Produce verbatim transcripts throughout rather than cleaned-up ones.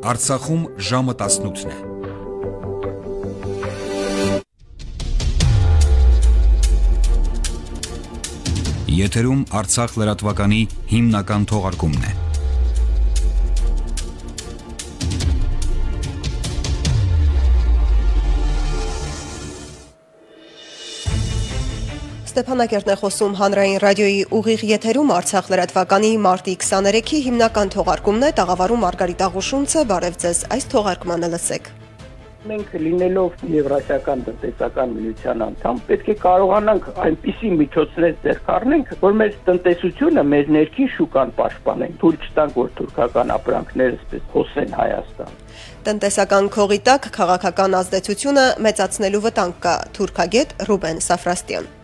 Արցախում ժամը տասնութն է։ Եթերում Արցախ լրատվականի հիմնական թողարկումն է։ Ստեփանակերտն է խոսում հանրային ռադիոյի ուղիղ եթերում Արցախ լրատվականի մարտի քսաներեքի հիմնական թողարկումն է, տաղավարում Մարգարիտ Աղուշունցը, բարև ձեզ, այս թողարկմանը լսեք։ Մենք լինելով Եվրասիական տնտեսական միության անդամ, պետք է կարողանանք այնպիսի միջոցներ ձեռք առնենք, որ մեր տնտեսությունը, մեր ներքին շուկան պաշտպանենք, թույլ չտանք, որ թուրքական ապրանքները այսպես հոսեն Հայաստան։ Տնտեսական քողի տակ քաղաքական ազդեցությունը մեծացնելու վտանգ կա, թուրքագետ Ռուբեն Սաֆրաստյան։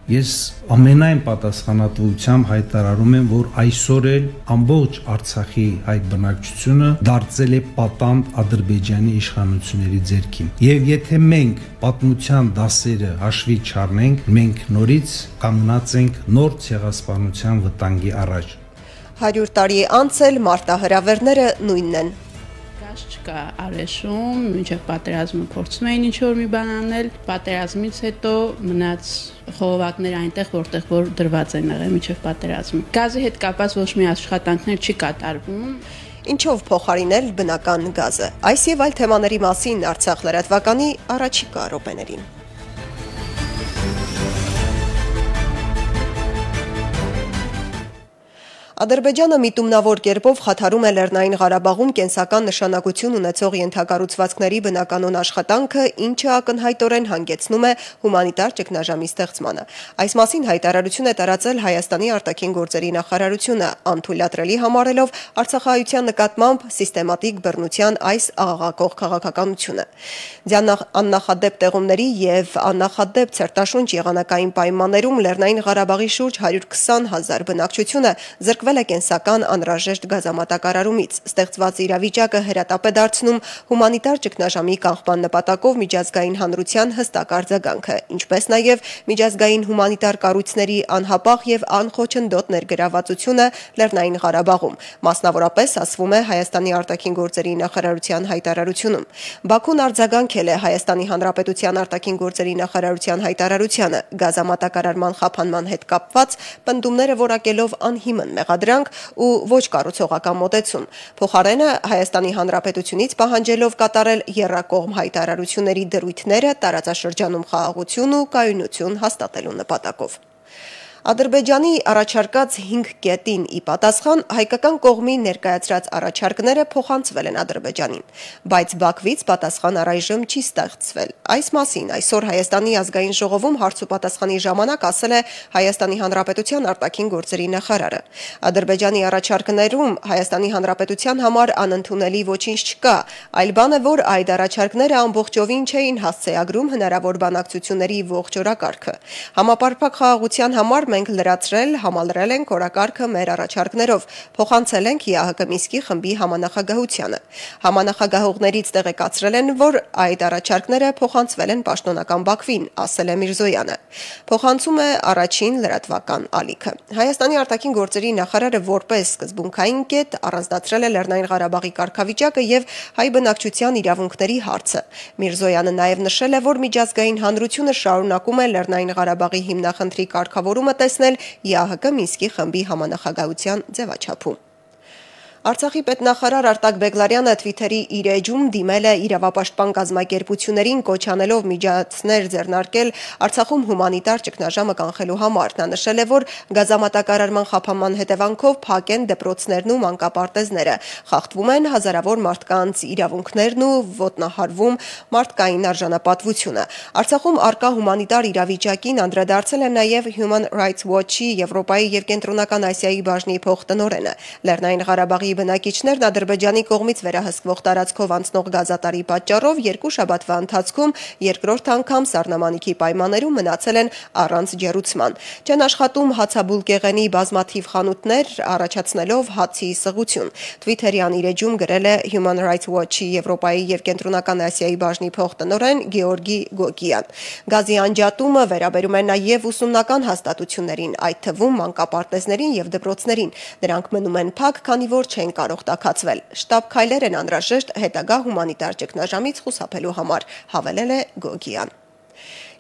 Ես ամենայն պատասխանատվությամբ հայտարարում եմ, որ այսօր էլ ամբողջ Արցախի հայ բնակչությունը դարձել է պատանդ Ադրբեջանի իշխանությունների ձեռքին։ Եվ եթե մենք պատմության դասերը հաշվի չառնենք, մենք նորից կանգնած ենք նոր ցեղասպանության վտանգի առաջ։ հարյուր տարի անց էլ մարտահրավերները նույնն են։ Չկա արեշում, մինչև պատերազմը փորձում էին ինչ-որ մի բան անել, պատերազմից հետո մնաց խողովակները այնտեղ, որտեղ որ դրված են եղել մինչև պատերազմը։ Գազի հետ կապված ոչ մի աշխատանքներ չի կատարվում։ Ինչով փոխարինել բնական գազը։ Այս եւ այլ թեմաների մասին Արցախ լրատվականի առաջիկա րոպեներին։ Ադրբեջանը միտումնավոր կերպով խաթարում է Լեռնային Ղարաբաղում կենսական նշանակություն ունեցող ենթակառուցվածքների բնականոն աշխատանքը, ինչը ակնհայտորեն հանգեցնում է հումանիտար ճգնաժամի ստեղծմանը։ Այս մասին հայտարարություն է տարածել Հայաստանի արտաքին գործերի նախարարությունը, անթույլատրելի համարելով արցախահայության նկատմամբ սիստեմատիկ բռնության այս աղաղակող քաղաքականությունը։ Աննախադեպ տեղումների եւ աննախադեպ ցերտաշունչ եղանակային պայմաններում Լեռնային Ղարաբաղի շուրջ հարյուր քսան հազար բնակչությունը զրկվել է կենսական անհրաժեշտ գազամատակարարումից։ Ստեղծված իրավիճակը հրատապ է դարձնում հումանիտար ճգնաժամի կանխման նպատակով միջազգային հանրության հստակ արձագանքը, ինչպես նաև միջազգային հումանիտար կառույցների անհապաղ եւ անխոչնդոտ ներգրավվածությունը Լեռնային Ղարաբաղում, մասնավորապես ասվում է Հայաստանի արտաքին գործերի նախարարության հայտարարությունում։ Բաքուն արձագանքել է Հայաստանի Հանրապետության արտաքին գործերի նախարարության հայտարարությանը, գազամատակարարման խափանման հետ կապված պնդումները որակելով անհիմն մեղադրանք ու ոչ կառուցողական մոտեցում։ Փոխարենը Հայաստանի Հանրապետությունից պահանջելով կատարել եռակողմ հայտարարությունների դրույթները տարածաշրջանում խաղաղություն ու կայունություն հաստատելու նպատակով։ Ադրբեջանի առաջարկած հինգ կետին ի պատասխան հայկական կողմի ներկայացրած առաջարկները փոխանցվել են Ադրբեջանին, բայց Բաքվից պատասխան առայժմ չի ստեղծվել։ Այս մասին այսօր Հայաստանի ազգային ժողովում հարց ու պատասխանի ժամանակ ասել է Հայաստանի Հանրապետության արտաքին գործերի նախարարը։ Ադրբեջանի առաջարկներում Հայաստանի Հանրապետության համար անընդունելի ոչինչ չկա, այլ բան է, որ այդ առաջարկները ամբողջովին չէին հասցեագրում հնարավոր բանակցությունների ողջ օրակարգը։ Համապարփակ խաղաղության համար մենք լրացրել, համալրել ենք օրակարգը մեր առաջարկներով, փոխանցել ենք ԵԱՀԿ Մինսկի խմբի համանախագահությանը։ Համանախագահողներից տեղեկացրել են, որ այդ առաջարկները փոխանցվել են պաշտոնական Բաքվին, ասել է Միրզոյանը։ Փոխանցում է առաջին լրատվական ալիքը։ Հայաստանի արտաքին գործերի նախարարը որպես սկզբունքային կետ առանձնացրել է Լեռնային Ղարաբաղի կարգավիճակը եւ հայ բնակչության իրավունքների հարցը։ Միրզոյանը նաև նշել է, որ միջազգային հանրությունը շարունակում է Լեռնային Ղարաբաղի հիմնախնդրի կարգավորումը տեսնել ԵԱՀԿ Մինսկի խմբի համանախագահության ձևաչափում։ Արցախի պետնախարար Արտակ Բեգլարյանը Twitter-ի իր էջում դիմել է իրավապաշտպան կազմակերպություններին կոչ անելով միջոցներ ձեռնարկել Արցախում հումանիտար ճգնաժամը կանխելու համար։ Նա նշել է, որ գազամատակարարման խափանման հետևանքով փակ են դպրոցներն ու մանկապարտեզները, խախտվում են հազարավոր մարդկանց իրավունքներն ու ոտնահարվում մարդկային արժանապատվությունը։ Արցախում արկա հումանիտար իրավիճակին անդրադարձել է նաև Human Rights Watch-ի Եվրոպայի եւ Կենտրոնական Ասիայի բաժնի փոխտնօրենը։ Լեռնային Ղարաբաղի բնակիչներն Ադրբեջանի կողմից վերահսկվող տարածքով անցնող գազատարի պատճառով երկու շաբաթվա ընթացքում երկրորդ անգամ սառնամանիքի պայմաններում մնացել են առանց ջեռուցման։ Չեն աշխատում հացաբուլկեղենի բազմաթիվ խանութներ, առաջացնելով հացի սղություն։ Twitter-յան իր էջում գրել է Human Rights Watch-ի Եվրոպայի եւ Կենտրոնական Ասիայի բաժնի փոխտնօրեն Գեորգի Գոգիան։ Գազի անջատումը վերաբերում է նաև ուսումնական հաստատություններին, այդ թվում մանկապարտեզներին եւ դպրոցներին։ Նրանք մնում են փակ, քանի որ չեն կարող տաքացվել։ Շտաբ քայլեր են անհրաժեշտ հետագա հումանիտար ճգնաժամից խուսափելու համար, հավելել է Գոգիան։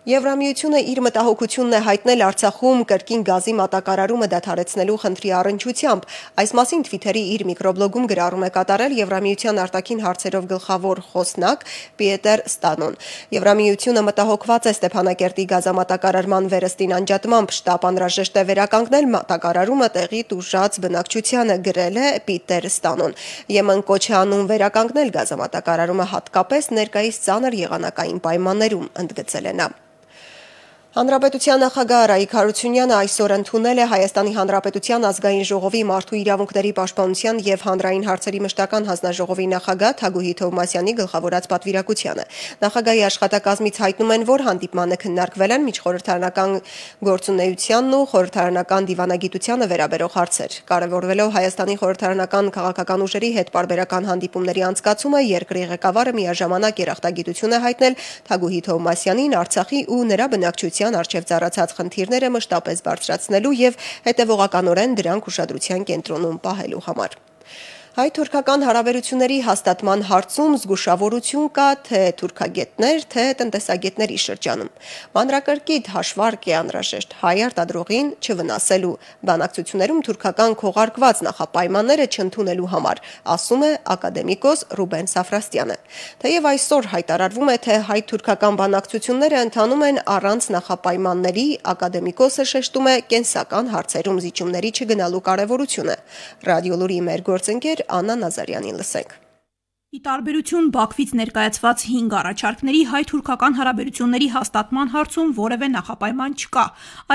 Եվրամիությունը իր մտահոգությունն է հայտնել Արցախում կրկին գազի մատակարարումը դադարեցնելու խնդրի առնչությամբ։ Այս մասին Twitter-ի իր միկրոբլոգում գրառում է կատարել Եվրամիության արտաքին հարցերով գլխավոր խոսնակ Պիետեր Ստանոն։ Եվրամիությունը մտահոգված է Ստեփանակերտի գազամատակարարման վերստին անջատմամբ, շտապ անհրաժեշտ է վերականգնել մատակարարումը տեղի տուժած բնակչությանը, գրել է Պիետեր Ստանոն։ Եմեն կոչ է անում վերականգնել գազամատակարարումը հատկապես ներկայիս ծանր եղանակային պայմաններում, ընդգծել է նա։ Հանրապետության նախագահ Արայիկ Հարությունյանը այսօր ընդունել է Հայաստանի Հանրապետության ազգային ժողովի մարդու իրավունքների պաշտպանության եւ հանրային հարցերի մշտական հանձնաժողովի նախագահ Թագուհի Թովմասյանի գլխավորած պատվիրակությանը։ Նախագահի աշխատակազմից հայտնում են, որ հանդիպմանը քննարկվել են միջխորհրդարանական գործունեությանն ու խորհրդարանական դիվանագիտությանը վերաբերող հարցեր։ Կարևորվելով Հայաստանի խորհրդարանական քաղաքական ուժերի հետ պարբերական հանդիպումների անցկացումը, երկրի ղեկավարը միաժամանակ երախտագիտություն է հայտնել Թագուհի Թովմասյանին Արցախի ու նրա բնակչության արչև ծառացած խնդիրները մշտապես բարձրացնելու եւ հետեւողականորեն դրանք ուշադրության կենտրոնում պահելու համար։ Հայ-թուրքական հարաբերությունների հաստատման հարցում զգուշավորություն կա թե թուրքագետներ, թե տնտեսագետների շրջանում։ Մանրակրկիտ հաշվարկ է անհրաժեշտ հայ արտադրողին չվնասելու, բանակցություններում թուրքական քողարկված նախապայմանները չընդունելու համար, ասում է ակադեմիկոս Ռուբեն Սաֆրաստյանը։ Թեև այսօր հայտարարվում է, թե հայ-թուրքական բանակցությունները ընթանում են առանց նախապայմանների, ակադեմիկոսը շեշտում է կենսական հարցերում զիջումների չգնալու կարևորությունը։ Ռադիոլուրի մեր գործընկեր Աննա Նազարյանին լսենք։ Ի տարբերություն Բաքվից ներկայացված հինգ առաջարկների հայ-թուրքական հարաբերությունների հաստատման հարցում որևէ նախապայման չկա։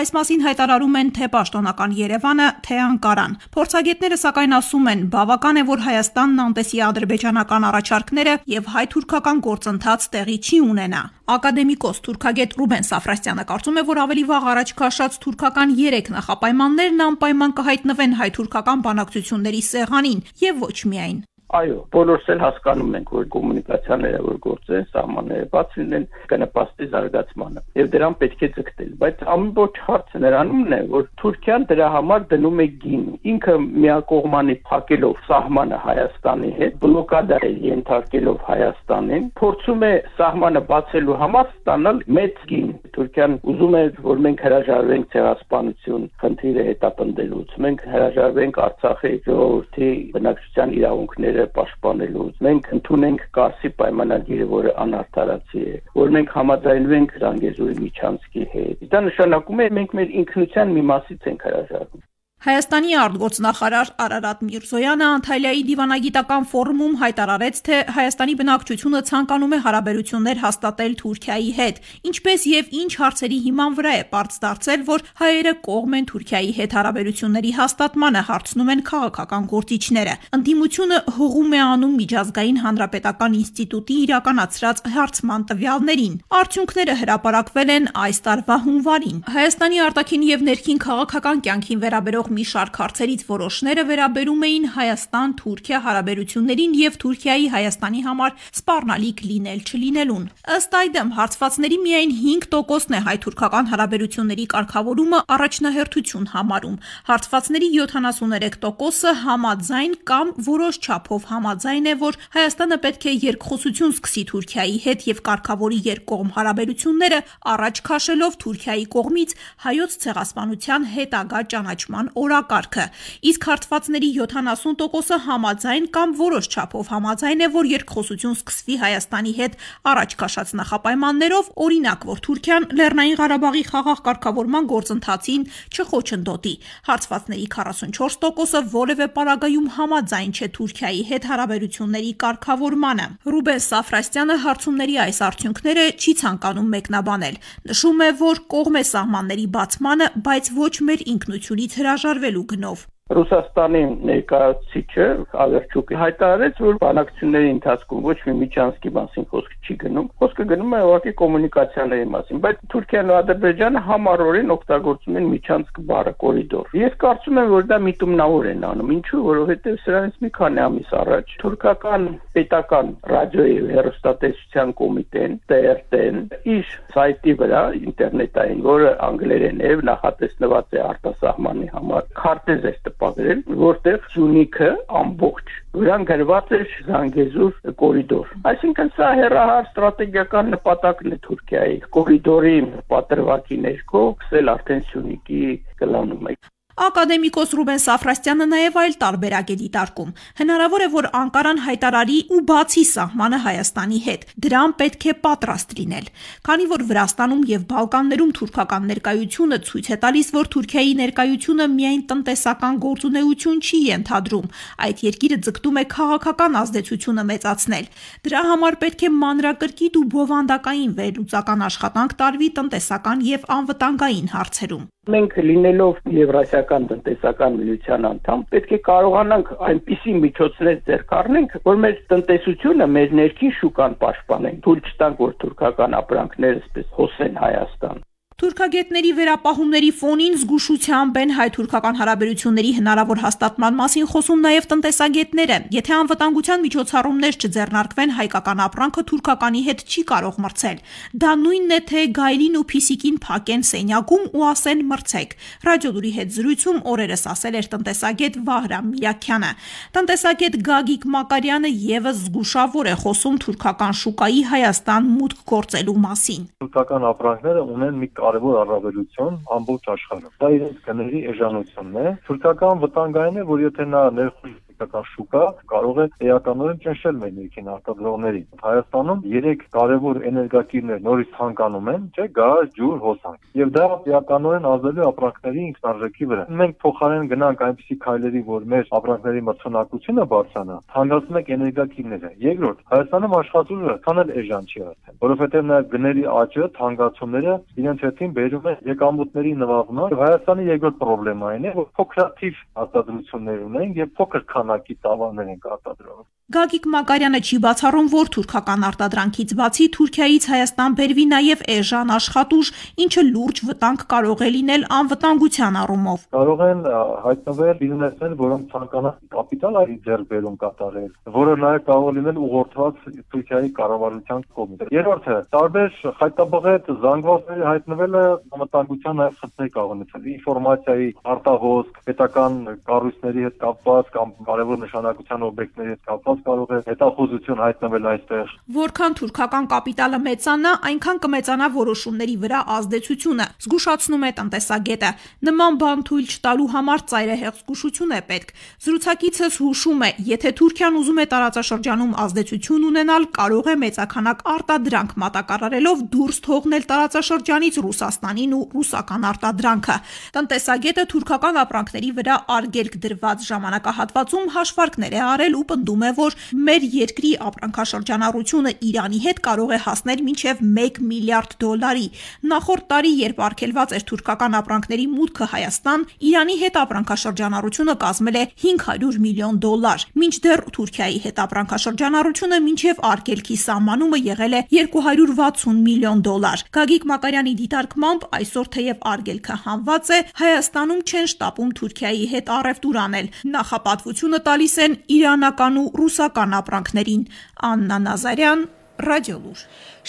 Այս մասին հայտարարում են թե պաշտոնական Երևանը, թե Անկարան։ Փորձագետները սակայն ասում են, բավական է, որ Հայաստանն անտեսի ադրբեջանական առաջարկները եւ հայ-թուրքական գործընթաց տեղի չի ունենա։ Ակադեմիկոս թուրքագետ Ռուբեն Սաֆրաստյանը կարծում է, որ ավելի վաղ առաջ քաշած թուրքական երեք նախապայմաններն անպայման կհայտնվեն հայ-թուրքական բանակցությունների սեղանին եւ ոչ միայն։ Այո, բոլորս էլ հասկանում ենք, որ կոմունիկացիաները, որ գործեն, սահմանները բաց լինեն, կնպաստի զարգացմանը, եւ դրան պետք է ձգտել, բայց ամբողջ հարցը նրանումն է, որ Թուրքիան դրա համար դնում է գին, ինքը միակողմանի փակելով սահմանը Հայաստանի հետ, բլոկադա է ենթարկելով Հայաստանին, փորձում է սահմանը բացելու համար ստանալ մեծ գին։ Թուրքիան ուզում է, որ մենք հրաժարվենք ցեղասպանություն խնդիրը հետապնդելուց, մենք հրաժարվենք Արցախի ժողովրդի բնակչության իրավունքները պաշտպանելուց, մենք ընդունենք Կարսի պայմանագիրը, որը անարդարացի է, որ մենք համաձայնվենք Ռանգեզուրի Միչանսկի հետ։ Դա նշանակում է մենք մեր ինքնության մի մասից ենք հրաժարվում։ Հայաստանի արտգործնախարար Արարատ Միրզոյանը Անտալիայի դիվանագիտական ֆորումում հայտարարեց, թե Հայաստանի բնակչությունը ցանկանում է հարաբերություններ հաստատել Թուրքիայի հետ, ինչպես եւ ինչ հարցերի հիման վրա է պարզ դարձել, որ հայերը կողմ են Թուրքիայի հետ հարաբերությունների հաստատմանը, հարցնում են քաղաքական գործիչները։ Ընդդիմությունը հողում է անում միջազգային հանրապետական ինստիտուտի իրականացրած հարցման տվյալներին։ Արդյունքները հրապարակվել են այս տարվա հունվարին։ Հայաստանի արտաքին եւ ներքին քաղաքական կյանքին վերաբերող մի շարք հարցերից որոշները վերաբերում էին Հայաստան-Թուրքիա հարաբերություններին եւ Թուրքիայի Հայաստանի համար սպառնալիք լինել-չլինելուն։ Ըստ այդմ հարցվածների միայն հինգ տոկոսն է հայ-թուրքական հարաբերությունների կարգավորումը առաջնահերթություն համարում։ Հարցվածների յոթանասուներեք տոկոսը համաձայն կամ որոշ չափով համաձայն է, որ Հայաստանը պետք է երկխոսություն սկսի Թուրքիայի հետ եւ կարգավորի երկկողմ հարաբերությունները, առաջ քաշելով Թուրքիայի կողմից հայոց ցեղասպանության հետագա ճանաչման օրակարգը, իսկ հարցվածների յոթանասուն տոկոսը համաձայն կամ որոշ չափով համաձայն է, որ երկխոսություն սկսվի Հայաստանի հետ առաջ քաշած նախապայմաններով, օրինակ, որ Թուրքիան Լեռնային Ղարաբաղի խաղաղ կարգավորման գործընթացին չխոչընդոտի։ Հարցվածների քառասունչորս տոկոսը որևէ պարագայում համաձայն չէ Թուրքիայի հետ հարաբերությունների կարգավորմանը։ Ռուբեն Սաֆրաստյանը հարցումների այս արդյունքները չի ցանկանում մեկնաբանել։ Նշում է, որ կողմ է սահմանների բացմանը, բայց ոչ մեր ինքնությունից հրաժարվելու գնով։ Ռուսաստանի ներկայացուցիչը Ավերչուկը հայտարարեց, որ բանակցությունների ընթացքում ոչ մի Միչանսկի մասին խոսք չի գնում, խոսքը գնում է ուղղակի կոմունիկացիաների մասին, բայց Թուրքիան ու Ադրբեջանը համառորեն օգտագործում են Միչանսկ բառը կորիդոր։ Ես կարծում եմ, որ դա միտումնավոր են անում, ինչու, որովհետև սրանից մի քանի ամիս առաջ թուրքական պետական ռադիոյի հեռուստատեսության կոմիտեն T R T-ն իր սայթի վրա ինտերնետային, որը անգլերեն է, նախատեսված է արտասահմանի համար, քարտեզ է տպագրել, որտեղ Սյունիքը ամբողջ վրան գրված էր Զանգեզուր կորիդոր։ Այսինքն սա հեռահար ստրատեգիական նպատակն է Թուրքիայի կորիդորի պատրվակի ներքո սկսել արդեն Սյունիքի կլանումը։ Ակադեմիկոս Ռուբեն Սաֆրաստյանը նաև այլ տարբերակ է դիտարկում։ Հնարավոր է, որ Անկարան հայտարարի ու բացի սահմանը Հայաստանի հետ։ Դրան պետք է պատրաստ լինել։ Քանի որ Վրաստանում եւ Բալկաններում թուրքական ներկայությունը ցույց է տալիս, որ Թուրքիայի ներկայությունը միայն տնտեսական գործունեություն չի ենթադրում, այդ երկիրը ձգտում է քաղաքական ազդեցությունը մեծացնել։ Դրա համար պետք է մանրակրկիտ ու բովանդակային վերլուծական աշխատանք տարվի տնտեսական եւ անվտանգային հարցերում։ Մենք լինելով Եվրասիական տնտեսական միության անդամ, պետք է կարողանանք այնպիսի միջոցներ ձեռք առնենք, որ մեր տնտեսությունը, մեր ներքին շուկան պաշտպանենք, թույլ չտանք, որ թուրքական ապրանքները այսպես հոսեն Հայաստան։ Թուրքագետների վերապահումների ֆոնին զգուշությամբ են հայ-թուրքական հարաբերությունների հնարավոր հաստատման մասին խոսում նաև տնտեսագետները։ Եթե անվտանգության միջոցառումներ չձեռնարկվեն, հայկական ապրանքը թուրքականի հետ չի կարող մրցել։ Դա նույնն է, թե գայլին ու փիսիկին փակեն սենյակում ու ասեն մրցեք։ Ռադիոլուրի հետ զրույցում օրերս ասել էր տնտեսագետ Վահրամ Միրաքյանը։ Տնտեսագետ Գագիկ Մակարյանը եւս զգուշավոր է խոսում թուրքական շուկայի Հայաստան մուտք գործելու մասին։ Թուրքական ապրանքները ունեն մի կարևոր առավելություն ամբողջ աշխարհում։ Դա իրենց գների էժանությունն է։ Թուրքական վտանգային է, որ եթե նա ներխուժ շուկա կարող է էականորեն ճնշել մեր ներքին արտադրողներին։ Հայաստանում երեք կարևոր էներգակիրներ նորից ցանկանում են, չէ՞, գազ, ջուր, հոսանք։ Եվ դա էականորեն ազդելու ապրանքների ինքնարժեքի վրա։ Մենք փոխարեն գնանք այնպիսի քայլերի, որ մեր ապրանքների մրցունակությունը բարձրանա, թանկացնում ենք էներգակիրները։ Երկրորդ, Հայաստանում աշխատուժը քանել էժան չի արդեն, որովհետև նաև գների աճը, թանկացումները իրենց հետին բերում են եկամուտների նվազման։ Հայաստանի երկրորդ պրոբլեմային է, որ փոքրաթիվ արտադրություններ ունեն եւ փոքր քանակի տավարներ են արտադրում։ Գագիկ Մակարյանը չի բացառում, որ թուրքական արտադրանքից բացի Թուրքիայից Հայաստան բերվի նաև էժան աշխատուժ, ինչը լուրջ վտանգ կարող է լինել անվտանգության առումով։ Կարող են հայտնվել բիզնեսներ, որոնք ցանկանան կապիտալ այլ ձեռքբերում կատարել, որը նաև կարող լինել ուղղորդված Թուրքիայի կառավարության կողմից։ Երրորդը, տարբեր խայտաբղետ զանգվածների հայտնվելը անվտանգության նաև խնդիրներ կարող ունեցել։ Ինֆորմացիայի արտահոսք, պետական կառույցների հետ կապված կամ կարևոր նշանակության օբյեկտների հետ կապված կարող է հետախուզություն հայտնվել այստեղ։ Որքան թուրքական կապիտալը մեծանա, այնքան կմեծանա որոշումների վրա ազդեցությունը, զգուշացնում է տնտեսագետը։ Նման բան թույլ չտալու համար ծայրահեղ զգուշություն է պետք։ Զրուցակիցս հուշում է, եթե Թուրքիան ուզում է տարածաշրջանում ազդեցություն ունենալ, կարող է մեծաքանակ արտադրանք մատակարարելով դուրս թողնել տարածաշրջանից Ռուսաստանին ու ռուսական արտադրանքը։ Տնտեսագետը թուրքական ապրանքների վրա արգելք դրված ժամանակահատվածում հաշվարկներ է արել ու պնդում է, որ մեր երկրի ապրանքաշրջանառությունը Իրանի հետ կարող է հասնել մինչև մեկ միլիարդ դոլարի։ Նախորդ տարի, երբ արգելված էր թուրքական ապրանքների մուտքը Հայաստան, Իրանի հետ ապրանքաշրջանառությունը կազմել է հինգ հարյուր միլիոն դոլար, մինչդեռ Թուրքիայի հետ ապրանքաշրջանառությունը մինչև արգելքի սահմանումը եղել է երկու հարյուր վաթսուն միլիոն դոլար։ Գագիկ Մակարյանի դիտարկմամբ այսօր թեև արգելքը հանված է, Հայաստանում չեն շտապում Թուրքիայի հետ առևտուր անել։ Նախապատվությունը տալիս են իրանական ու ռուսական ապրանքներին։ Աննա Նազարյան, Ռադիոլուր։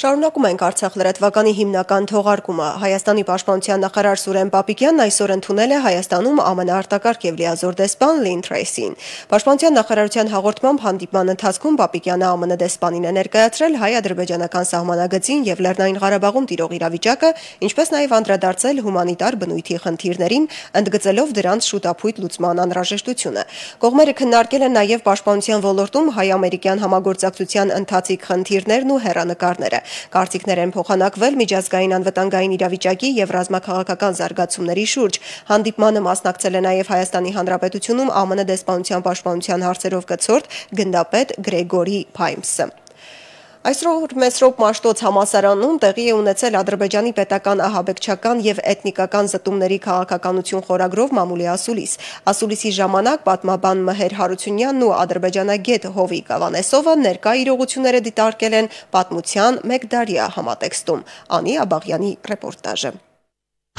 Շարունակում ենք Արցախ լրատվականի հիմնական թողարկումը։ Հայաստանի պաշտպանության նախարար Սուրեն Պապիկյանն այսօր ընդունել է Հայաստանում ԱՄՆ արտակարգ եւ լիազոր դեսպան Լին Թրեյսին։ Պաշտպանության նախարարության հաղորդմամբ հանդիպման ընթացքում Պապիկյանը ԱՄՆ դեսպանին է ներկայացրել հայ-ադրբեջանական սահմանագծին եւ Լեռնային Ղարաբաղում տիրող իրավիճակը, ինչպես նաեւ անդրադարձել հումանիտար բնույթի խնդիրներին, ընդգծելով դրանց շուտապույտ լուծման անհրաժեշտությունը։ Կողմերը քննարկել են նաեւ պաշտպանության ոլորտում հայ-ամերիկյան համագործակցության ընթացիկ խնդիրներն ու հեռանկարները։ Կարծիքներ են փոխանակվել միջազգային անվտանգային իրավիճակի եւ ռազմաքաղաքական զարգացումների շուրջ։ Հանդիպմանը մասնակցել է նաեւ Հայաստանի Հանրապետությունում ԱՄՆ դեսպանության պաշտպանության հարցերով կցորդ գնդապետ Գրեգորի Փայմսը։ Այսօր Մեսրոպ Մաշտոց համալսարանում տեղի է ունեցել Ադրբեջանի պետական ահաբեկչական եւ էթնիկական զտումների քաղաքականություն խորագրով մամուլի ասուլիս։ Ասուլիսի ժամանակ պատմաբան Մհեր Հարությունյանն ու ադրբեջանագետ Հովիկ Ավանեսովը ներկա իրողությունները դիտարկել են պատմության մեկդարյա համատեքստում։ Անի Աբաղյանի ռեպորտաժը։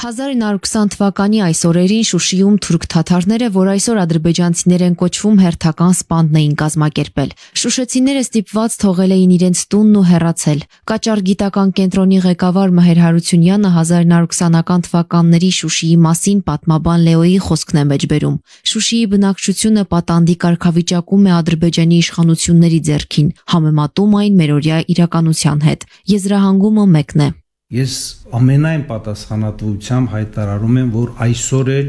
հազար իննսուն քսան թվականի այս օրերին Շուշիում թուրք թաթարները, որ այսօր ադրբեջանցիներ են կոչվում, հերթական սպանդ էին կազմակերպել։ Շուշեցիները ստիպված թողել էին իրենց տունն ու հեռացել։ Կաճար գիտական կենտրոնի ղեկավար Մհեր Հարությունյանը հազար իննսուն քսանական թվականների Շուշիի մասին պատմաբան Լեոյի խոսքն է մեջբերում։ Շուշիի բնակչությունը պատանդի կարգավիճակում է Ադրբեջանի իշխանությունների ձեռքին, համեմատում այն մերօրյա իրականության հետ։ Եզրահանգումը մեկն է։ Ես ամենայն պատասխանատվությամբ հայտարարում եմ, որ այսօր էլ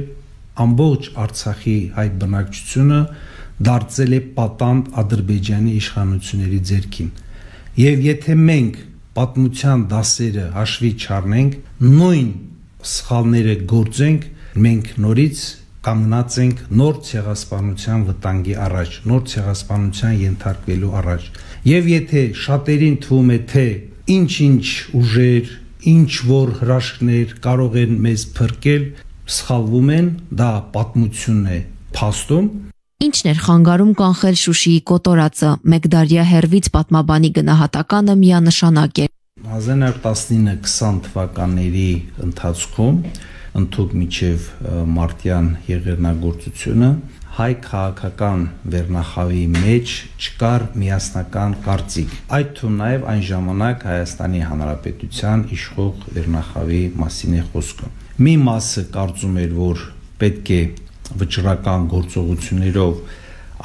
ամբողջ Արցախի հայ բնակչությունը դարձել է պատանդ Ադրբեջանի իշխանությունների ձեռքին։ Եվ եթե մենք պատմության դասերը հաշվի չառնենք, նույն սխալները գործենք, մենք նորից կանգնած ենք նոր ցեղասպանության վտանգի առաջ, նոր ցեղասպանության ենթարկվելու առաջ։ Եվ եթե շատերին թվում է, թե ինչ-ինչ ուժեր, ինչ որ հրաշքներ կարող են մեզ փրկել, սխալվում են, դա պատմությունն է փաստում։ Ինչն էր խանգարում կանխել Շուշիի կոտորածը, մեկդարյա հեռվից պատմաբանի գնահատականը միանշանակ է։ հազար իննսուն տասնինը քսան թվականների ընթացքում, ընդհուպ մինչև մարտյան եղեռնագործությունը, հայ քաղաքական վերնախավի մեջ չկար միասնական կարծիք։ Այդ թվում նաև այն ժամանակ Հայաստանի Հանրապետության իշխող վերնախավի մասին է խոսքը։ Մի մասը կարծում էր, որ պետք է վճռական գործողություններով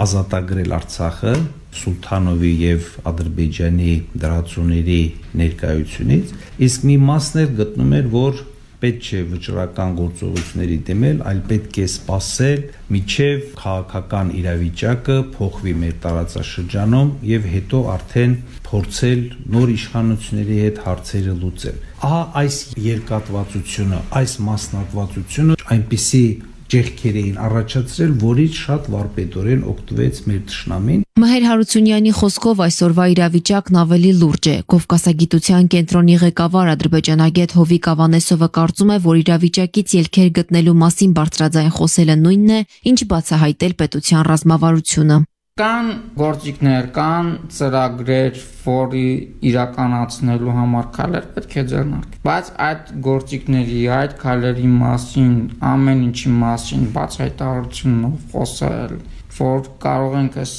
ազատագրել Արցախը Սուլթանովի եւ Ադրբեջանի դրացուների ներկայությունից, իսկ մի մասն էլ գտնում էր, որ պետք չէ վճռական գործողությունների դիմել, այլ պետք է սպասել, մինչև քաղաքական իրավիճակը փոխվի մեր տարածաշրջանում եւ հետո արդեն փորձել նոր իշխանությունների հետ հարցերը լուծել։ Ահա այս երկատվածությունը, այս մասնատվածությունը այնպիսի ջեղքեր էին առաջացրել, որից շատ վարպետորեն օգտվեց մեր թշնամին։ Մհեր Հարությունյանի խոսքով այսօրվա իրավիճակն ավելի լուրջ է։ Կովկասագիտության կենտրոնի ղեկավար ադրբեջանագետ Հովիկ Ավանեսովը կարծում է, որ իրավիճակից ելքեր գտնելու մասին բարձրաձայն խոսելը նույնն է, ինչ բացահայտել պետության ռազմավարությունը։ Կան գործիքներ, կան ծրագրեր, որի իրականացնելու համար քայլեր պետք է ձեռնարկել։ Բայց այդ գործիքների, այդ քայլերի մասին, ամեն ինչի մասին բացահայտարարությունով խոսել, որ կարող ենք այս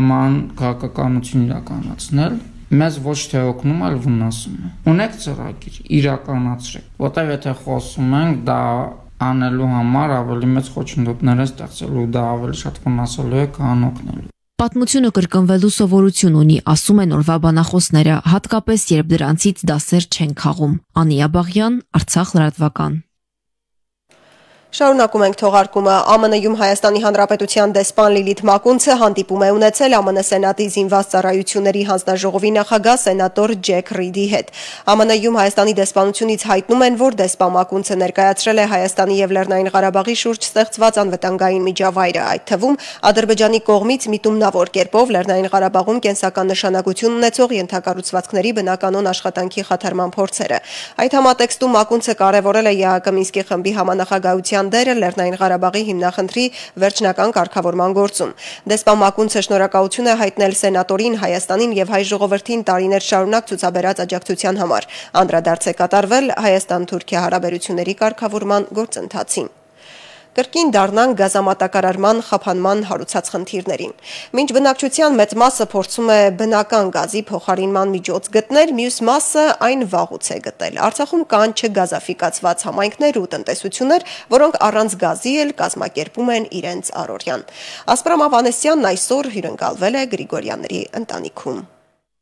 նման քաղաքականություն իրականացնել, մեզ ոչ թե օգնում, այլ վնասում է։ Ունեք ծրագիր, իրականացրեք, որտեղ եթե խոսում ենք, դա անելու համար ավելի մեծ խոչընդոտներ է ստեղծելու, դա ավելի շատ վնասելու է, քան օգնելու։ Պատմությունը կրկնվելու սովորություն ունի, ասում են օրվա բանախոսները, հատկապես երբ դրանցից դասեր չեն քաղում։ Անի Աբաղյան, Արցախ լրատվական։ Շարունակում ենք թողարկումը։ ԱՄՆ-ում Հայաստանի Հանրապետության դեսպան Լիլիթ Մակունցը հանդիպում է ունեցել ԱՄՆ Սենատի զինված ծառայությունների հանձնաժողովի նախագահ սենատոր Ջեք Ռիդի հետ։ ԱՄՆ-ում Հայաստանի դեսպանությունից հայտնում են, որ դեսպան Մակունցը ներկայացրել է Հայաստանի եւ Լեռնային Ղարաբաղի շուրջ ստեղծված անվտանգային միջավայրը, այդ թվում Ադրբեջանի կողմից միտումնավոր կերպով Լեռնային Ղարաբաղում կենսական նշանակություն ունեցող ենթակառուցվածքների բնականոն աշխատանքի խաթարման փորձերը։ Այդ համատեքստում Մակունցը կարևորել է ԵԱՀԿ Մինսկի խմբի համանախագահության դերը Լեռնային Ղարաբաղի հիմնախնդրի վերջնական կարգավորման գործում։ Դեսպան Մակունցը շնորհակալություն է հայտնել սենատորին, Հայաստանին եւ հայ ժողովրդին տարիներ շարունակ ցուցաբերած աջակցության համար։ Անդրադարձ է կատարվել Հայաստան-Թուրքիա հարաբերությունների կարգավորման գործընթացին։ Կրկին դառնան գազամատակարարման խափանման հարուցած խնդիրներին։ Մինչ բնակչության մեծ մասը փորձում է բնական գազի փոխարինման միջոց գտնել, մյուս մասը այն վաղուց է գտել։ Արցախում կան չգազաֆիկացված համայնքներ ու տնտեսություններ, որոնք առանց գազի էլ կազմակերպում են իրենց առօրյան։ Ասպրամ Ավանեսյանն այսօր հյուրընկալվել է Գրիգորյանների ընտանիքում։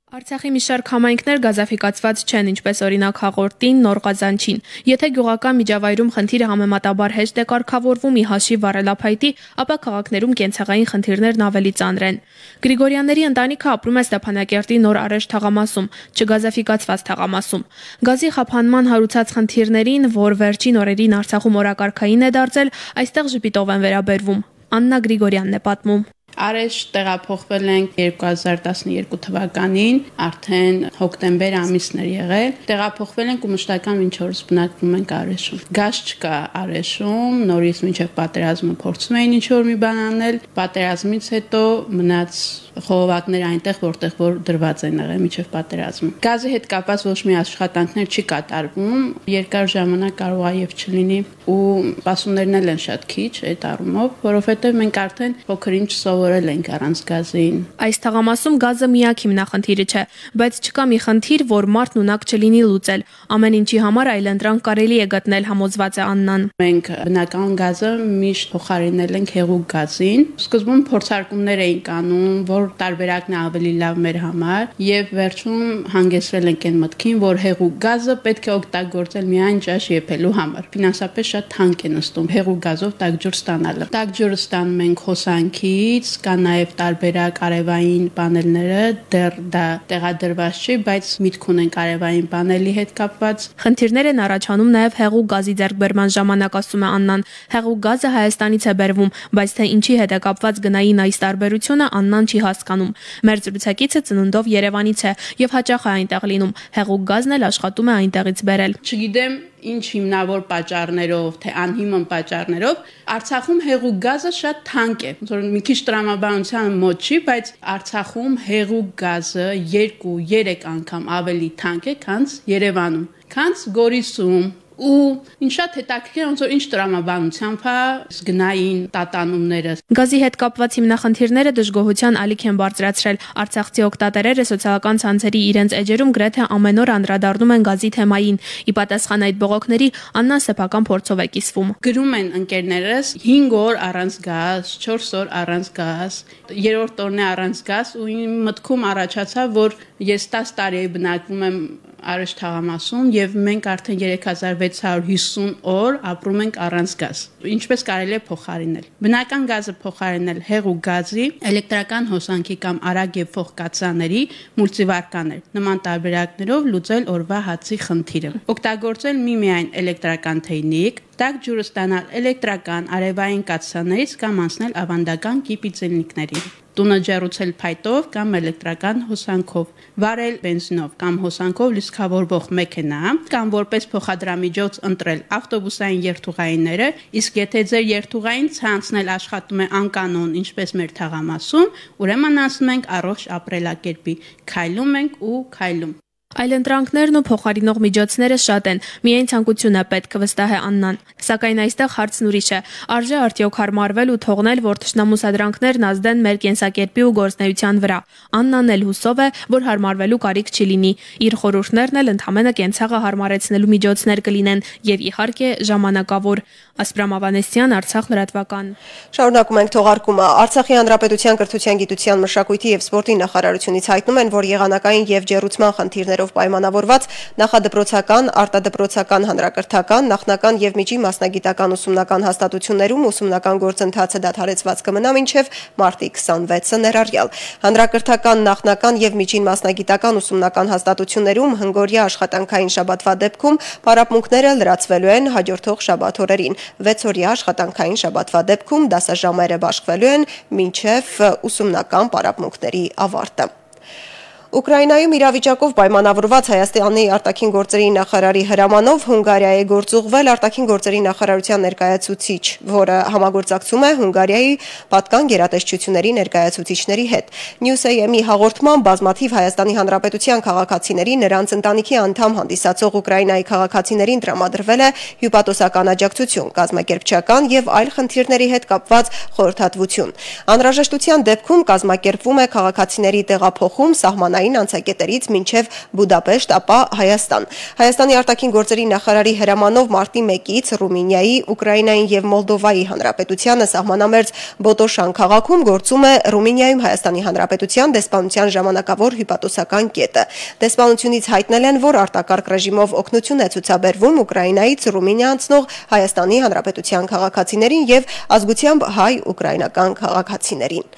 Արցախի մի շարք համայնքներ գազաֆիկացված չեն, ինչպես օրինակ Հաղորդին, Նոր Ղազանչին։ Եթե գյուղական միջավայրում խնդիրը համեմատաբար հեշտ է կարգավորվում ի հաշիվ վառելափայտի, ապա քաղաքներում կենցաղային խնդիրներն ավելի ծանր են։ Գրիգորյանների ընտանիքը ապրում է Ստեփանակերտի Նոր Արեշ թաղամասում, չգազաֆիկացված թաղամասում։ Գազի խափանման հարուցած խնդիրներին, որ վերջին օրերին Արցախում օրակարգային է դարձել, այստեղ ժպիտով են վերաբերվում։ Աննա Գրիգորյանն է պատմում։ Արեշ տեղափոխվել ենք երկու հազար տասնյոթ թվականին, արդեն հոկտեմբեր ամիսն էր եղել։ Տեղափոխվել ենք ու մշտական մինչ օրս բնակվում ենք Արեշում։ Գազ չկա Արեշում, նորից մինչև պատերազմը փորձում էին ինչ-որ մի բան անել, պատերազմից հետո մնաց խողովակներ այնտեղ, որտեղ որ դրված են եղել մինչև պատերազմը։ Գազի հետ կապված ոչ մի աշխատանքներ չի կատարվում, երկար ժամանակ կարող է եւ չլինի ու սպասումներն էլ են շատ քիչ այդ առումով, որովհետեւ մենք արդեն փոքր-ինչ սովորել ենք առանց գազին։ Այս թաղամասում գազը միակ հիմնախնդիրը չէ, բայց չկա մի խնդիր, որ մարդն ունակ չլինի լուծել։ Ամեն ինչի համար այլընտրանք կարելի է գտնել, համոզված է Աննան։ Մենք բնական գազը միշտ փոխարինել ենք հեղուկ գազին։ Սկզբում փորձարկումներ էինք անում, որ տարբերակն է ավելի լավ մեր համար, եւ վերջում հանգեցրել ենք այն մտքին, որ հեղուկ գազը պետք է օգտագործել միայն ճաշ եփելու համար։ Ֆինանսապես շատ թանկ է նստում հեղուկ գազով տաք ջուր ստանալը։ Տաք ջուրը ստանում ենք հոսանքից, կա նաեւ տարբերակ արևային պանելները, դեռ դա տեղադրված չի, բայց միտք ունենք արևային պանելի հետ կապված։ Խնդիրներ են առաջանում նաեւ հեղուկ գազի ձեռքբերման ժամանակ, ասում է Աննան։ Հեղուկ գազը Հայաստանից է բերվում, բայց թե ինչի հետ է կապված գնային այս տարբերությունը Աննան չի հասկանում։ Մեր զրուցակիցը ծնունդով Երևանից է եւ հաճախ է այնտեղ լինում։ Հեղուկ գազն էլ աշխատում է այնտեղից բերել։ Չգիտեմ ինչ հիմնավոր պատճառներով, թե անհիմն պատճառներով Արցախում հեղուկ գազը շատ թանկ է։ Ոնց որ մի քիչ տրամաբանության մոտ չի, բայց Արցախում հեղուկ գազը երկու երեք անգամ ավելի թանկ է, քան Երևանում, քան Գորիսում։ Ու ինչ շատ հետաքրքիր ոնց որ ինչ տրամաբանությամբ է գնային տատանումները։ Գազի հետ կապված հիմնախնդիրները դժգոհության ալիք են բարձրացրել։ Արցախցի օգտատերերը սոցիալական ցանցերի իրենց էջերում գրեթե ամեն օր անդրադառնում են գազի թեմային։ Ի պատասխան այդ բողոքների Աննան սեփական փորձով է կիսվում։ Գրում են ընկերներս հինգ օր առանց գազ, չորս օր առանց գազ, երրորդ օրն է առանց գազ ու իմ մտքում առաջացավ, որ ես տասը տարի բնակվում եմ Արեշ թաղամասում եւ մենք արդեն երեք հազար վեց հարյուր հիսուն օր ապրում ենք առանց գազ։ Ինչպես կարելի է փոխարինել։ Բնական գազը փոխարինել հեղուկ գազի, էլեկտրական հոսանքի կամ արագ եւ փոխ կաթսաների մուլտիվարկաներ։ Նման տարբերակներով լուծել օրվա հացի խնդիրը։ Օգտագործել միմիայն էլեկտրական թեյնիկ, տաք ջուրը ստանալ էլեկտրական արևային կաթսաներից կամ անցնել ավանդական կիպիծելնիկների։ Տունը ջեռուցել փայտով կամ էլեկտրական հոսանքով, վարել բենզինով կամ հոսանքով լիցքավորվող մեքենա կամ որպես փոխադրամիջոց ընտրել ավտոբուսային երթուղայինները, իսկ եթե ձեր երթուղային ցանցն էլ աշխատում է անկանոն, ինչպես մեր թաղամասում, ուրեմն անցնում ենք առողջ ապրելակերպի, քայլում ենք ու քայլում։ Այլընտրանքներն ու փոխարինող միջոցները շատ են, միայն ցանկություն է պետք, վստահ է Աննան։ Սակայն այստեղ հարցն ուրիշ է։ Արժե արդյոք հարմարվել ու թողնել, որ թշնամու սադրանքներն ազդեն մեր կենսակերպի ու գործնեության վրա։ Աննան էլ հուսով է, որ հարմարվելու կարիք չի լինի։ Իր խորհուրդներն էլ ընդհանրապես կենցաղը հարմարեցնելու միջոցներ կլինեն եւ իհարկե ժամանակավոր։ Ասպրամ Ավանեսյան, Արցախ լրատվական։ Շարունակում ենք թողարկումը։ Արցախի հանրապետության կրթության, գիտության, մշակույթի եւ սպորտի նախարարությունից հայտնում են, որ եղանակային եւ ջեռուցման խնդիրներով պայմանավորված նախադպրոցական, արտադպրոցական, հանրակրթական, նախնական եւ միջին մասնագիտական ուսումնական հաստատություններում ուսումնական գործընթացը դադարեցված կմնա մինչեւ մարտի քսանվեցը ներառյալ։ Հանրակրթական, նախնական եւ միջին մասնագիտական ուսումնական հաստատություններում հնգօրյա աշխատանքային շաբաթվա դեպքում պարապմունքները լրացվելու են հաջորդող շաբաթօրերին։ վեցօրյա աշխատանքային շաբաթվա դեպքում դասաժամերը բաշխվելու են մինչև ուսումնական պարապմունքների ավարտը։ Ուկրաինայում իրավիճակով պայմանավորված Հայաստանի արտաքին գործերի նախարարի հրամանով Հունգարիա է գործուղվել արտաքին գործերի նախարարության ներկայացուցիչ, որը համագործակցում է Հունգարիայի պատկան գերատեսչությունների ներկայացուցիչների հետ։ Նյուս-Էյ-ի հաղորդման բազմաթիվ Հայաստանի Հանրապետության քաղաքացիների նրանց ընտանիքի անդամ հանդիսացող Ուկրաինայի քաղաքացիներին տրամադրվել է հյուպատոսական աջակցություն, կազմակերպչական եւ այլ խնդիրների հետ կապված խորհրդատվություն։ Անհրաժեշտության դեպքում կազմակերպվում է քաղաքացիների տեղափոխում սահմանային անցակետերից մինչև Բուդապեշտ, ապա Հայաստան։ Հայաստանի արտաքին գործերի նախարարի հրամանով մարտի մեկից Ռումինիայի, Ուկրաինային եւ Մոլդովայի հանրապետությանը սահմանամերձ Բոտոշան քաղաքում գործում է Ռումինիայում Հայաստանի հանրապետության դեսպանության ժամանակավոր հյուպատոսական կետը։ Դեսպանությունից հայտնել են, որ արտակարգ ռեժիմով օգնություն է ցուցաբերվում Ուկրաինայից Ռումինիա անցնող Հայաստանի հանրապետության քաղաքացիներին եւ ազգությամբ հայ-ուկրաինական քաղաքացիներին։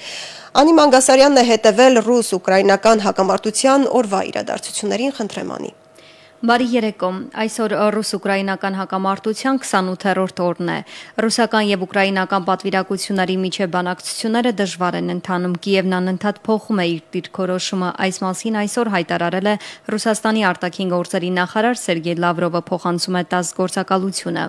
Անի Մանգասարյանն է հետևել ռուս-ուկրաինական հակամարտության օրվա իրադարձություններին, խնդրեմ Անի։ Բարի երեկո։ Այսօր ռուս-ուկրաինական հակամարտության քսանութերորդ օրն է։ Ռուսական եւ ուկրաինական պատվիրակությունների միջև բանակցությունները դժվար են ընթանում։ Կիևն անընդհատ փոխում է իր դիրքորոշումը։ Այս մասին այսօր հայտարարել է Ռուսաստանի արտաքին գործերի նախարար Սերգեյ Լավրովը, փոխանցում է ՏԱՍՍ գործակալությունը։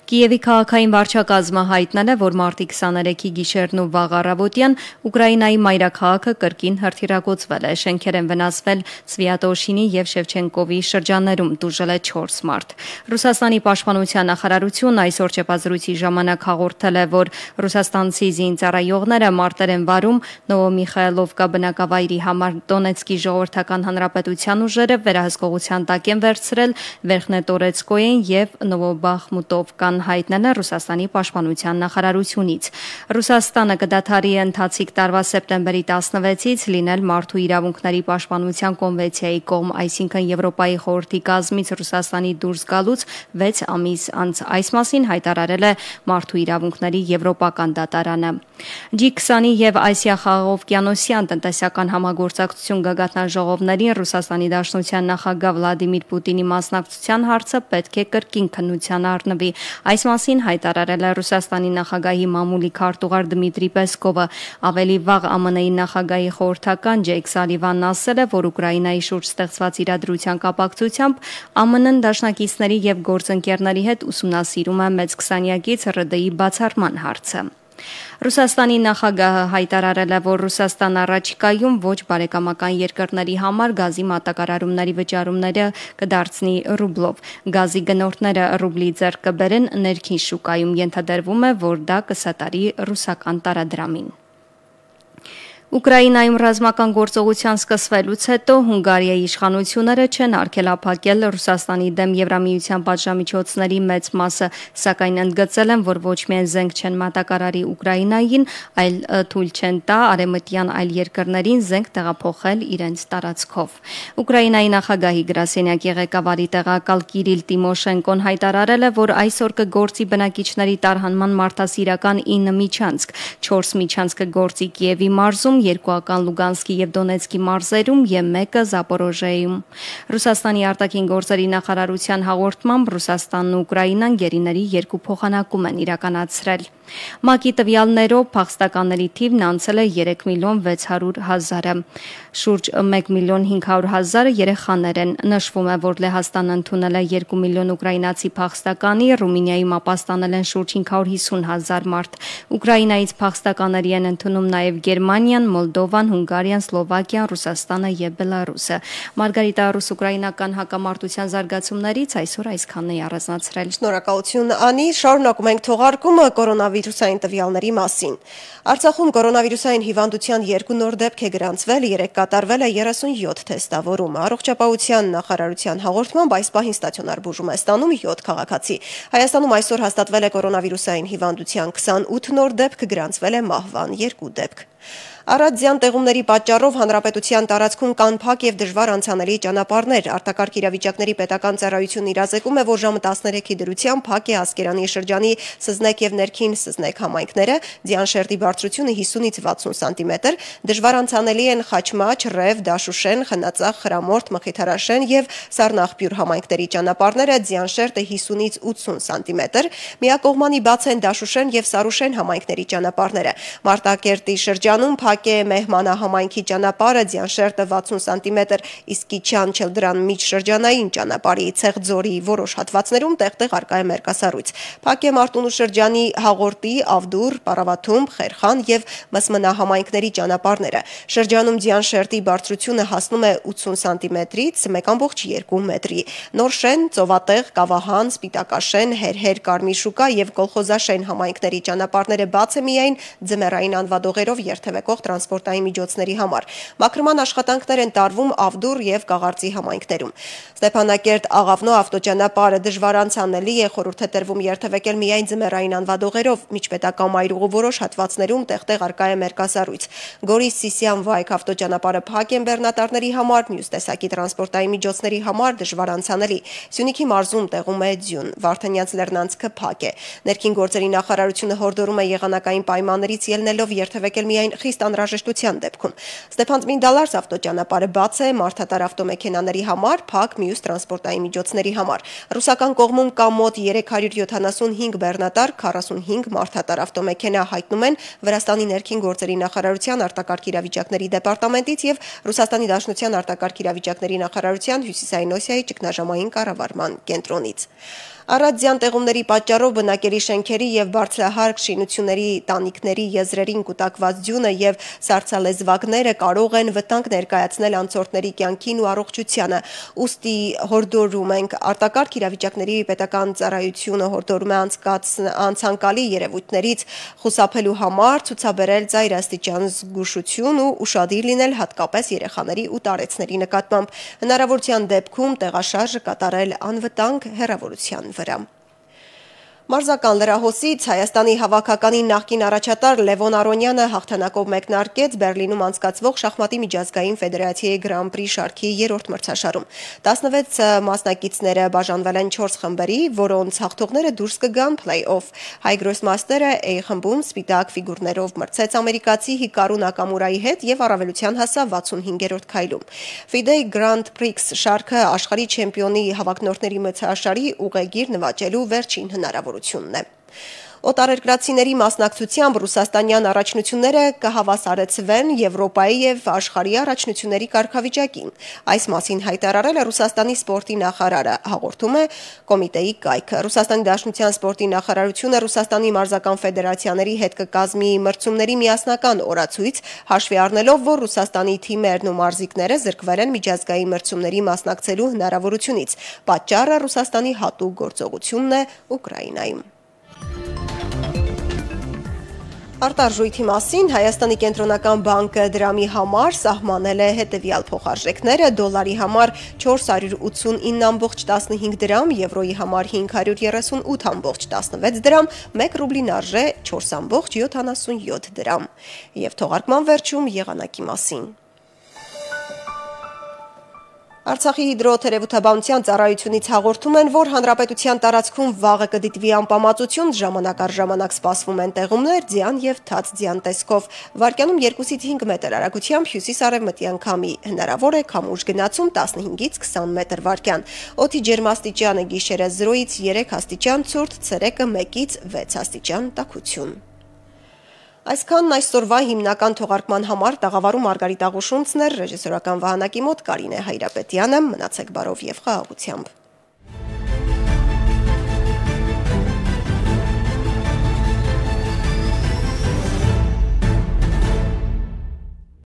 Կիևի քաղաքային վարչակազմը հայտնել է, որ մարտի քսաներեքի գիշերն ու վաղ առավոտյան Ուկրաինայի մայրաքաղաքը կրկին հրթիռագործվել է։ Շենքեր են վնասվել Սվիատոշինի եւ Շևչենկովի շրջաններում, տուժել է չորս մարդ։ Ռուսաստանի պաշտպանության նախարարությունն այսօր չեպազրույցի ժամանակ հաղորդել է, որ ռուսաստանցի զինծառայողները մարտեր են վարում Նովոմիխայլովկա բնակավայրի համար։ Դոնեցկի ժողովրդական հանրապետության ուժերը վերահսկողության տակ են վերցրել Վերխնետորեցկոյեն եւ Նովոբախմուտովկան, հայտնել է Ռուսաստանի պաշտպանության նախարարությունից։ Ռուսաստանը կդադարի ընթացիկ տարվա սեպտեմբերի տասնվեցից լինել մարդու իրավունքների պաշտպանության կոնվենցիայի կողմ, այսինքն Եվրոպայի խորհրդի կազմից Ռուսաստանի դուրս գալուց վեց ամիս անց։ Այս մասին հայտարարել է Մարդու իրավունքների եվրոպական դատարանը։ Ջի քսանի եւ Ասիա-Խաղաղօվկիանոսյան տնտեսական համագործակցություն գագաթնաժողովներին Ռուսաստանի Դաշնության նախագահ Վլադիմիր Պուտինի մասնակցության հարցը պետք է կրկին քննության առնվի։ Այս մասին հայտարարել է Ռուսաստանի նախագահի մամուլի քարտուղար Դմիտրի Պեսկովը։ Ավելի վաղ ԱՄՆ-ի նախագահի խորհրդական Ջեյք Սալիվանն ասել է, որ Ուկրաինայի շուրջ ստեղծված իրադրության կապակցությամբ ԱՄՆ-ն դաշնակիցների եւ գործընկերների հետ ուսումնասիրում է մեծ քսանյակից ՌԴ-ի բացառման հարցը։ Ռուսաստանի նախագահը հայտարարել է, որ Ռուսաստան առաջիկայում ոչ բարեկամական երկրների համար գազի մատակարարումների վճարումները կդարձնի ռուբլով։ Գազի գնորդները ռուբլի ձեռք կբերեն ներքին շուկայում, ենթադրվում է, որ դա կսատարի ռուսական տարադրամին։ Ուկրաինայում ռազմական գործողության սկսվելուց հետո Հունգարիայի իշխանությունները չեն արգելափակել Ռուսաստանի դեմ Եվրամիության պատժամիջոցների մեծ մասը, սակայն ընդգծել են, որ ոչ միայն զենք չեն մատակարարի Ուկրաինային, այլ թույլ չեն տա արևմտյան այլ երկրներին զենք տեղափոխել իրենց տարածքով։ Ուկրաինայի նախագահի գրասենյակի ղեկավարի տեղակալ Կիրիլ Տիմոշենկոն հայտարարել է, որ այսօր կգործի բնակիչների տարհանման մարդասիրական ինը միջանցք, չորս միջանցք կգործի Կիևի մարզում, երկուական Լուգանսկի եւ Դոնեցկի մարզերում եւ մեկը Զապորոժիայում։ Ռուսաստանի արտաքին գործերի նախարարության հաղորդմամբ Ռուսաստանն ու Ուկրաինան գերիների երկու փոխանակում են իրականացրել։ ՄԱԿ-ի տվյալներով փախստականների թիվն անցել է երեք միլիոն վեց հարյուր հազարը, շուրջ մեկ միլիոն հինգ հարյուր հազարը երեխաներ են։ Նշվում է, որ Լեհաստանը ընդունել է երկու միլիոն ուկրաինացի փախստականի, Ռումինիայում ապաստանել են շուրջ հինգ հարյուր հիսուն հազար մարդ։ Ուկրաինայից փախստականների են ընդունում նաև Գերմանիան, Մոլդովան, Հունգարիան, Սլովակիան, Ռուսաստանը եւ Բելարուսը։ Մարգարիտա, ռուս-ուկրաինական հակամարտության զարգացումներից այսօր այսքանն է առանձնացրել։ Շնորհակալություն Անի, շարունակում ենք թողարկումը կորոնավիրուսային տվյալների մասին։ Արցախում կորոնավիրուսային հիվանդության երկու նոր դեպք է գրանցվել, երեկ կատարվել է երեսունյոթ թեստավորում։ Առողջապահության նախարարության հաղորդմամբ այս պահին ստացիոնար բուժում է ստանում յոթ քաղաքացի։ Հայաստանում այսօր հաստատվել է կորոնավիրուսային հիվանդության քսանութ նոր դեպք, գրանցվել է մահվան երկու դեպք։ Առատձյան տեղումների պատճառով հանրապետության տարածքում կան փակ եւ դժվար անցանելի ճանապարհներ։ Արտակարգ իրավիճակների պետական ծառայությունն իրազեկում է, որ ժամը տասներեքի դրությամբ փակ է Ասկերանի շրջանի Սզնեկ եւ Ներքին Սզնեկ համայնքները, ձյան բարձրությունը հիսունից վաթսուն սանտիմետր, դժվար անցանելի են Խաչմաչ, Ռև, Դաշուշեն, Խնածախ, Խրամորդ, Մխիթարաշեն եւ Սառնաղբյուր համայնքների ճանապարհները, ձյան հիսունից ութսուն սանտիմետր, միակողմանի բաց են Դաշուշեն եւ Սարուշեն համայնքների ճանապարհները։ Մարտակերտի շրջանում փակ է Մեհմանա համայնքի ճանապարհը, ձյան վաթսուն սանտիմետր, իսկ Կիչյան Չելդրան միջշրջանային ճանապարհի Ցեղձորի որոշ հատվածներում տեղ-տեղ արկա է մերկասառույց։ Փակ է Մարտունու շրջանի Հաղորդի, Ավդուր, Պարավաթում, Խերխան եւ Մսմնա համայնքների ճանապարհները։ Շրջանում ձյան բարձրությունը հասնում է ութսուն սանտիմետրից մեկ կόμma երկու մետրի։ Նորշեն, Ծովատեղ, Կավահան, Սպիտակաշեն, Հերհեր, Կարմիր եւ Կոլխոզաշեն համայնքների ճանապարհները բաց է միայն ձմեռային անվադողերով երթևեկող տրանսպորտային միջոցների համար։ Մաքրման աշխատանքներ են տարվում Ավդուր եւ Կաղարծի համայնքներում։ Ստեփանակերտ Աղավնո ավտոճանապարհը դժվար անցանելի է, խորհուրդ է տրվում երթևեկել միայն ձմեռային անվադողերով, միջպետական մայրուղու որոշ հատվածներում տեղ-տեղ արկա է մերկասառույց։ Գորիս Սիսիան Վայք ավտոճանապարհը փակ են բեռնատարների համար, մյուս տեսակի տրանսպորտային միջոցների համար դժվար անցանելի։ Սյունիքի մարզում տեղում է ձյուն, Վարդանյանց Լեռնանցքը փակ է։ Ներքին գործերի նախարարությունը հորդորում է եղանակային պայմաններից ելնելով երթևեկել միայն խիստ անհրաժեշտության դեպքում։ Ստեփան Ծմինդալարս ավտոճանապարհը բաց է մարդատար ավտոմեքենաների համար, փակ մյուս տրանսպորտային միջոցների համար։ Ռուսական կողմում կա մոտ երեք հարյուր յոթանասունհինգ բեռնատար, քառասունհինգ մարդատար ավտոմեքենա, հայտնում են Վրաստանի ներքին գործերի նախարարության արտակարգ իրավիճակների դեպարտամենտից եւ Ռուսաստանի Դաշնության արտակարգ իրավիճակների նախարարության Հյուսիսային Օսիայի ճգնաժամային կառավարման կենտրոնից։ Առատձյան տեղումների պատճառով բնակելի շենքերի եւ բարձրահարկ շինությունների տանիքների եզրերին կուտակված ձյունը եւ սառցալեզվակները կարող են վտանգ ներկայացնել անցորդների կյանքին ու առողջությանը։ Ուստի հորդորում ենք արտակարգ իրավիճակների պետական ծառայությունը հորդորում է անցանկալի երևույթներից խուսափելու համար ցուցաբերել ծայրաստիճան զգուշություն ու ուշադիր լինել հատկապես երեխաների ու տարեցների նկատմամբ։ Հնարավորության դեպքում տեղաշարժը կատարել անվտանգ հեռավորության վրա։ Մարզական լրահոսից Հայաստանի հավաքականի նախկին առաջատար Լևոն Արոնյանը հաղթանակով մեկնարկեց Բերլինում անցկացվող շախմատի միջազգային ֆեդերացիայի Grand Prix շարքի երրորդ մրցաշարում։ տասնվեց մասնակիցները բաժանվել են չորս խմբերի, որոնց հաղթողները դուրս կգան play-off։ Հայ գրոսմաստերը A խմբում սպիտակ ֆիգուրներով մրցեց ամերիկացի Հիկարու Նակամուրայի հետ եւ առավելության հասավ վաթսունհինգերորդ քայլում։ FIDE Grand Prix շարքը աշխարհի չեմպիոնի հավաքնորդների մրցաշարի ուղեգիր նվաճելու վերջին հնարավորությունն է։ Օտարերկրացիների մասնակցությամբ ռուսաստանյան առաջնությունները կհավասարեցվեն Եվրոպայի եւ աշխարհի առաջնությունների կարգավիճակին։ Այս մասին հայտարարել է Ռուսաստանի սպորտի նախարարը, հաղորդում է կոմիտեի կայքը։ Ռուսաստանի Դաշնության սպորտի նախարարությունը Ռուսաստանի մարզական ֆեդերացիաների հետ կկազմի մրցումների միասնական օրացույց, հաշվի առնելով, որ Ռուսաստանի թիմերն ու մարզիկները զրկվել են միջազգային մրցումների մասնակցելու հնարավորությունից։ Պատճառը Ռուսաստանի հատուկ գործողությունն է Ուկրաինայում։ Արտարժույթի մասին Հայաստանի կենտրոնական բանկը դրամի համար սահմանել է հետևյալ փոխարժեքները՝ դոլարի համար չորս հարյուր ութսունինը կόμma տասնհինգ դրամ, եվրոյի համար հինգ հարյուր երեսունութ կόμma տասնվեց դրամ, մեկ ռուբլին արժե չորս կόμma յոթանասունյոթ դրամ։ Եվ թողարկման վերջում եղանակի մասին։ Արցախի հիդրոթերապևտաբանության ծառայությունից հաղորդում են, որ հանրապետության տարածքում վաղը կդիտվի անպամացություն, ժամանակ առ ժամանակ սպասվում են տեղումներ, ձյան եւ թաց ձյան տեսքով։ Վարկյանում երկուսից հինգ մետր արագությամբ հյուսիս-արևմտյան քամի, հնարավոր է քամուշ գնացում տասնհինգից քսան մետր վարկյան։ Օդի ջերմաստիճանը գիշերը զրոյից երեք աստիճան ցուրտ, ցերեկը մեկից վեց աստիճան տաքություն։ Այսքանն այսօրվա հիմնական թողարկման համար տաղավարում Մարգարիտ Աղուշունցն էր, ռեժիսորական վահանակի մոտ Կարինե Հայրապետյանը, մնացեք բարով եւ խաղաղությամբ։